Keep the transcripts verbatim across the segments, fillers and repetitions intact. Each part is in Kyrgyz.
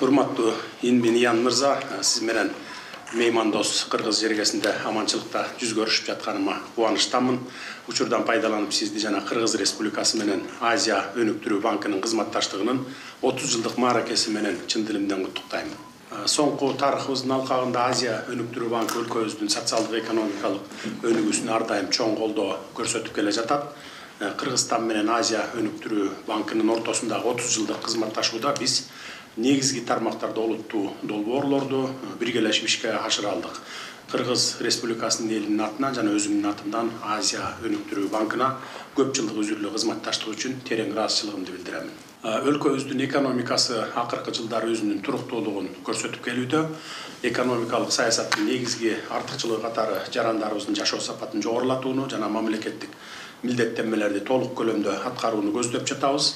Урматтуу Инбин Иян мырза, сиз менен меймандос Кыргыз жергесинде аманчылыкта жүз көрүшүп жатканыма кубанычтамын. Учурдан пайдаланып сизди жана Кыргыз Республикасы менен Азия өнүктүрүү банкынын кызматташтыгынын отуз жылдык мааракеси менен чын дилимден куттуктайм. Соңку тарыхыбыздын алкагында Азия өнүктүрүү банкы өлкөбүздүн социалдык экономикалык өнүгүүсүнө ар дайым чоң колдоо көрсөтүп келе жатат. Кыргызстан менен Азия өнүктүрүү банкынын ортосундагы отуз жылдык кызматташууда биз негизги тармактарда олуттуу долбоорлорду биргелешип ишке ашыра алдык. Кыргыз Республикасынын элинин атынан жана өзүмдүн атымдан Азия өнүктүрүү банкына көп жылдык үзүрлүү кызматташтык үчүн терең ыраазычылыгымды билдирем. Өлкөбүздүн экономикасы акыркы жылдары өзүнүн туруктуулугун көрсөтүп келүүдө. Экономикалык саясаттын негизги артыкчылыгы катары жарандарыбыздын жашоо сапатын жогорулатууну жана мамлекеттик милдеттенмелерди толук көлөмдө аткарууну көздөп жатабыз.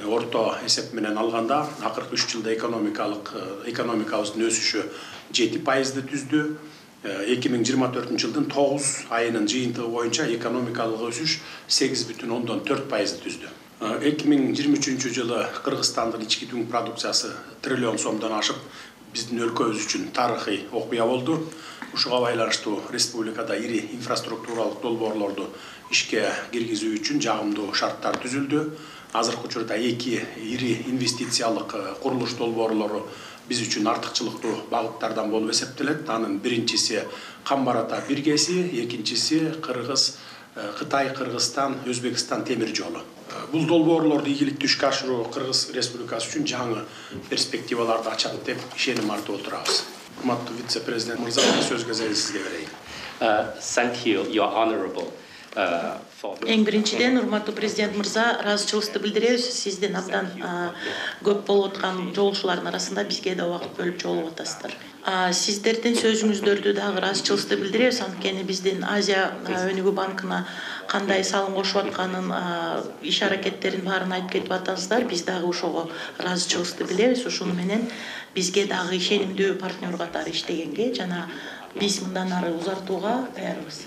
Орто эсеп менен алганда акыркы үч жылда экономикалык экономикабыздын өсүшү жети пайызды түздү. эки миң жыйырма төртүнчү жылдын тогуз айынын жыйынтыгы боюнча экономикалык өсүш сегиз бүтүн ондон төрт пайызды түздү. эки миң жыйырма үчүнчү жылы Кыргызстандын ички дүң продукциясы триллион сомдон ашып, биздин өлкөбүз үчүн тарыхый окуя болду. Ушуга байланыштуу республикада ири инфраструктуралык долбоорлорду ишке киргизүү үчүн жагымдуу шарттар түзүлдү. Азыркы учурда эки ири инвестициялык курулуш долбоорлору биз үчүн артыкчылыктуу багыттардан болуп эсептелет. Анын биринчиси Камбар Ата биргеси, экинчиси Кыргыз Кытай Кыргызстан Өзбекстан темир жолу. Бул долбоорлорду ийгиликтүү ишке ашыруу Кыргыз Республикасы үчүн жаңы перспективаларды ачат деп ишеним артып отурабыз. Урматтуу вице-президент мырза, сөз кезегин сизге берейин. Thank you, your honorable. Эң биринчиден, урматтуу президент мырза, ыраазычылыгыбызды билдиребиз. Сиздин абдан көп болуп аткан жолугушуулардын арасында бизге да убакыт бөлүп жолугуп атасыздар. Сиздердин сөзүңүздөрдү дагы ыраазычылыгыбызды билдиребиз. Анткени биздин Азия өнүгүү банкына кандай салым кошуп атканын, иш аракеттерин баарын айтып кетип атасыздар. Биз дагы ошого ыраазычылыгыбызды билдиребиз. Ушуну менен бизге дагы ишенимдүү партнер катары иштегенге жана биз мындан ары узартууга даярбыз.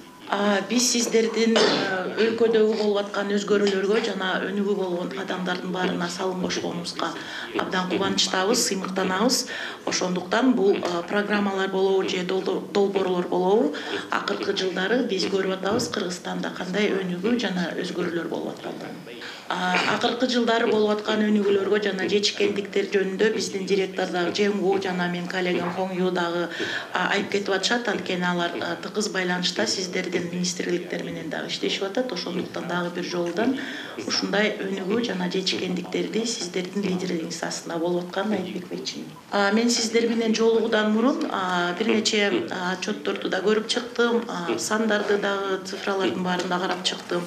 Биз сиздердин өлкөдөгү болуп аткан өзгөрүүлөргө жана өнүгүү болгон кадамдардын баарына салым кошконубузга абдан кубанычтабыз, сыймыктанабыз. Ошондуктан бул программалар болобу же долбоорлор болобу, акыркы жылдары биз көрүп атабыз Кыргызстанда кандай өнүгүү жана өзгөрүүлөр болуп аткандыгын. Акыркы жылдары болуп аткан өнүгүүлөргө жана жетишкендиктер жөнүндө биздин директор дагы Жеңгу жана менин коллегам Хоңю дагы айтып кетип атышат. Анткени алар тыгыз байланышта сиздердин министрликтер менен дагы иштешип атат. Ошондуктан дагы бир жолдон ушундай өнүгүү жана жетишкендиктерди сиздердин лидерлигиңиз астында болуп атканын айтып кетмекчимин. Мен сиздер менен жолугуудан мурун бир нече отчетторду да көрүп чыктым, сандарды дагы, цифралардын баарын да карап чыктым.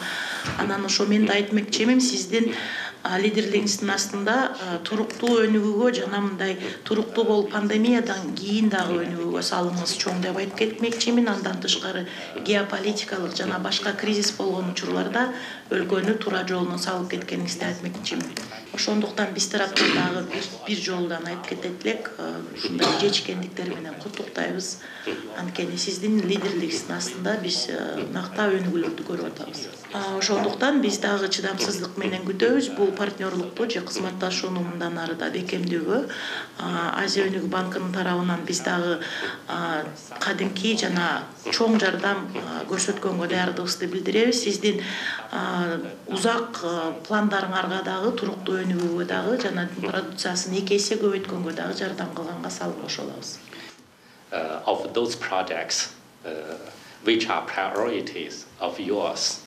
Анан ошо мен да айтмекчимин, сиздин лидерлигиңиздин астында туруктуу өнүгүүгө жана мындай туруктуу болуп пандемиядан кийин дагы өнүгүүгө салымыңыз чоң деп айтып кетмекчимин. Андан тышкары геополитикалык жана башка кризис болгон учурларда өлкөнү туура жолуна салып кеткениңизди айтмекчимин. Ошондуктан биз тараптан дагы бир жолдан айтып кетет элек, ушундай жетишкендиктер менен куттуктайбыз. Анткени сиздин лидерлигиңиздин астында биз накта өнүгүүлөрдү көрүп атабыз. Ошондуктан биз дагы чыдамсыздык менен күтөбүз. Бул партнерлукту же кызматташууну мындан ары да бекемдөөгө Азия өнүгүү банкынын тарабынан биз дагы кадимки жана чоң жардам көрсөткөнгө даярдыгыбызды билдиребиз. Сиздин узак пландарыңарга дагы, туруктуу өнүгүүгө дагы жана продукциясын эки эсе көбөйткөнгө дагы жардам кылганга салым кошо алабыз. Of those projects which are priorities of yours,